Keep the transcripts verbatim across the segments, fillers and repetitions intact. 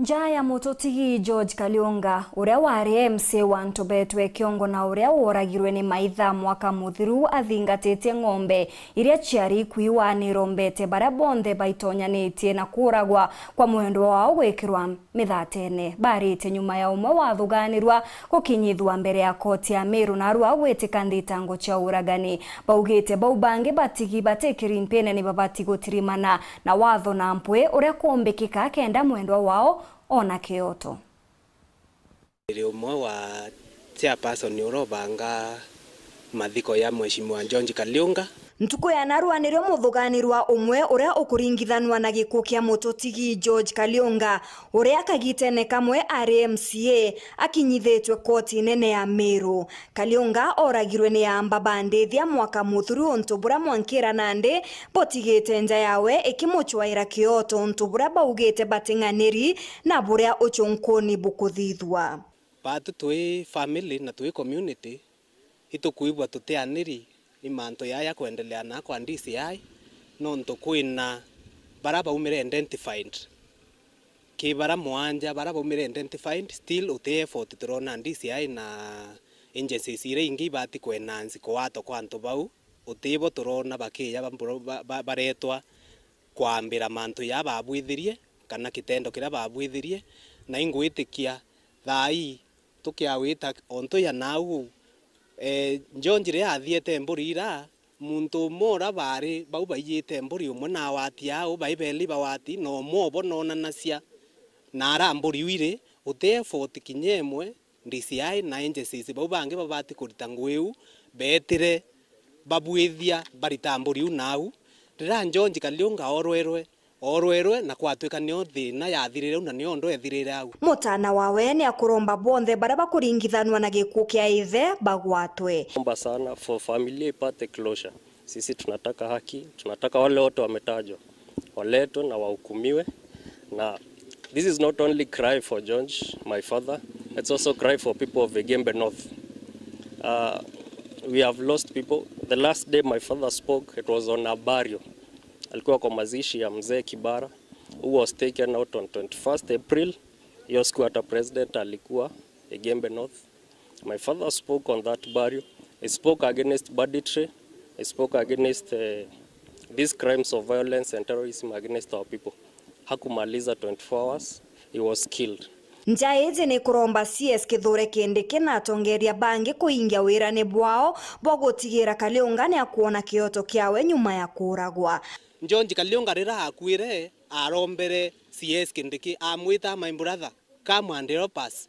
Nja ya mututigi George Kaliunga, uria wari M C A wa Ntubetwe Kiongo na uria woragirwe ni maitha mwaka muthiru athingatitie ng'ombe iria ciari ikui, nirombete baria bonthe baitonyanitie na kuuragwa kwa mwendwa wao gwikirwa mithatene. Barite nyuma ya umwe wathuganirwa gukinyithua mbere ya koti ya Meru narua gwitika thitango cia uragani. Baugite bau bangi batigi bati kirimpine ni babati gutirimana na watho na mpwi uria kumbikika kenda mwendwa wao ona kioto. Ndiri umwe wa chairperson uria ubanga mathiko ya Mheshimiwa George Kaliunga. Ntuku ya narua nirio muthuganirwa umwe uria ukuringithanua na gikuu kia mututigi George Kaliunga, uria kagitene kamwe ari M C A, akinyithitwe koti nene ya Meru. Kaliunga oragirwe ni aamba ba ndithia mwaka muthiru untu buria mwankira nandi butigite nja yawe ikimucwaira kioto untu buria baugite bating'aniri na buria ucunkuni bukuthithua. Baatu twi family na twi community, itukwigua tutianiri ni mantu jaa jakwendelea na kwa D C I, nontu kwina baria baumire identified. Ki baria mwanja baria baumire identified, still uti effort turona D C I na agencies iria ingi ibati kwenansi kuwatwa kwa antu bau, utibo turona bakija ba-, ba-, ba-, baretwa kwambira mantu jaa babwithirie kana kitendo kiria babwithirie, na ingwitikia thaa ii tukiawita ontu ya nau uu. Eh, George riria athiete mburi ira, muntu umwe uria baari bau baiyite mburi, umwe na awati au, bai beli bawati, na umwe obo noonanacia na ara mburi iu iri, uti effort kinya imwe D C I na agencies bau bangi babati kurita ngugi iu, beetire babwithia barita mburi iu nau. Riria George Kaliunga orwerwe, orwerwe na kwatwika nio thina yathirire u na nio ndu ethirire au. Mutana wawe ni akuromba bonthe baria bakuringithanua na gikuu kia ithe bagwatwe. Omba sana for familia ipate closure. Sisi tunataka haki, tunataka wale wote wametajwa waletwe na wahukumiwe. Na this is not only cry for George, my father, it's also cry for people of Igembe North. Uh, we have lost people. The last day my father spoke, it was on a burial. Alikuwa kwa mazishi ya mzee Kibara, who was taken out on twenty-first April. Hiyo siku hata president alikuwa Igembe North. My father spoke on that burial. He spoke against banditry. He spoke against, eh, these crimes of violence and terrorism against our people. Hakumaliza twenty-four hours, he was killed. Nja iji ni kuromba C S Kithure Kindiki na atongeria bangi kuingia wirani bwao bwa gutigira Kaliunga ni akuona kioto kiawe nyuma ya kuuragwa. George Kaliunga riria akuire, arombere C S Kindiki, amwita, "My brother, come and help us."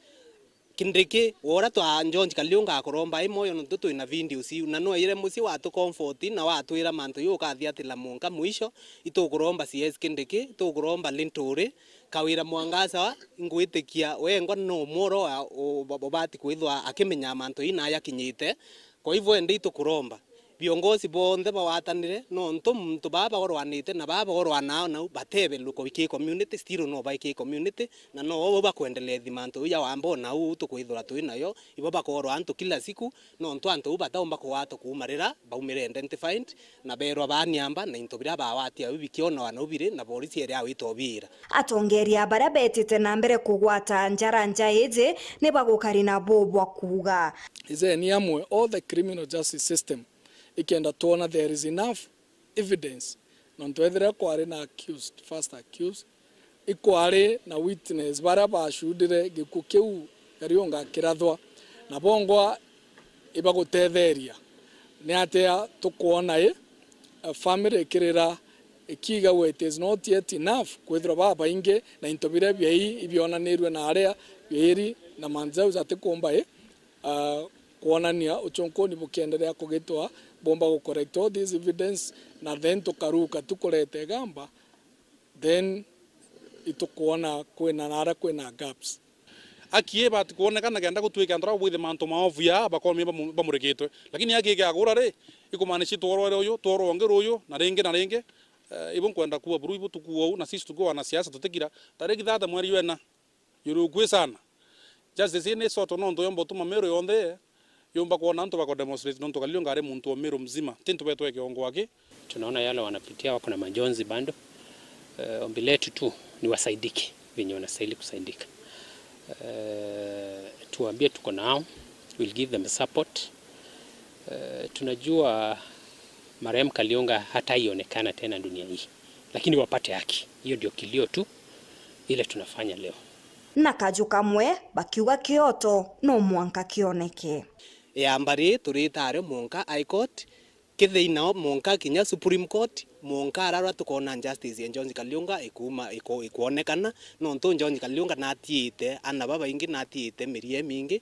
Kindiki, wora twa George Kaliunga akuromba i moyo, nontu twina videos iu, na nwaire mucii watu comfort na watwira mantu iu ukathiatira mwanka mwisho. Itukuromba C S Kindiki, itukuromba Linturi, Kawira Mwangaza, ingwitikia wengwa no mworo wa u-, ubati kwithwa akimenya mantu ii na yakinyite. Kwa hivyo, indi itukuromba viongozi bonthe bawatanire, nontu muntu baa bagorwanite na baa bagorwanaa nau batebe luko ki community, still no bai ki community, na no o bau bakwendelea thimantu iu ya wamba ona uu tukwithirwa twi nayo, ibo bakorwa antu kila siku, nontu antu uu bataumba kugwatwa kuuma rira baumire identified, na berwa baaniamba, na into biria bawati au bikionwa nau biri, na borisi eri awita obiira. Atongeria baria betite na mbere kugwata njara nja iji ni bagukari na buu bwa kuuga. Ijeni amwe all the criminal justice system ikenda twona there is enough evidence, nontu ethira kwari na accused, first accused, ikwari na witness baria bacudire gikuu kiu Kariunga akirathwa, na bongwa ibagutetheria. Ni atia tukwona i, a family ikirira ikiigagua it is not yet enough kwithirwa babaingi na into biria biai ibionanirue na aria biairi na mantu jau jatikumba i, ah, kwonania ucunkuni bukiendelea kugitwa, bomba gu collect all this evidence, na then tukaruka tukureta igamba, then itukwona kwina naria kwina gaps. Aki ibati kwonekana kenda gutwika antu aria babwithia mantu maovu ya bakomie bamu-, bamurikitwe. Lakini aki ikiagura ri, ikumaanisha tworwere uyu, tworwa ungi ruyu, na ringi na ringi. Eh, ibu nkwenda kuwa buru ibu tukuwa uu, na sisi tukiwa wanasiasa tutikira. Tariki thate mweri jwa ina, yuri ukui sana. Justice ii ni sort nontu yomba utuma Meru yonthe yumba kwona antu bako demonstrate nontu Kariunga ari muntu wa Meru mzima. Ti ntu betwe kiongo aki. Tunaona yale wanapitia, wako na majonzi bado. Eh, ombi letu tu ni wasaidike. venye wanastahili kusaidika. Eh, tuambie tuko nao, we'll give them support. Eh, tunajua marehemu Kaliunga hataionekana tena dunia hii, lakini wapate haki. Hiyo ndio kilio tu ile tunafanya leo. Na kaju kamwe bakiuga kioto no mwanka kioneke. Yamba ri turitaare mwanka High Court, kithiinao mwanka kinya Supreme Court, mwanka ararwa tukona justice ya George Kaliunga ikuuma, iku-, ikwonekana, nontu George Kaliunga natiite ana babaingi, natiite mirie mingi.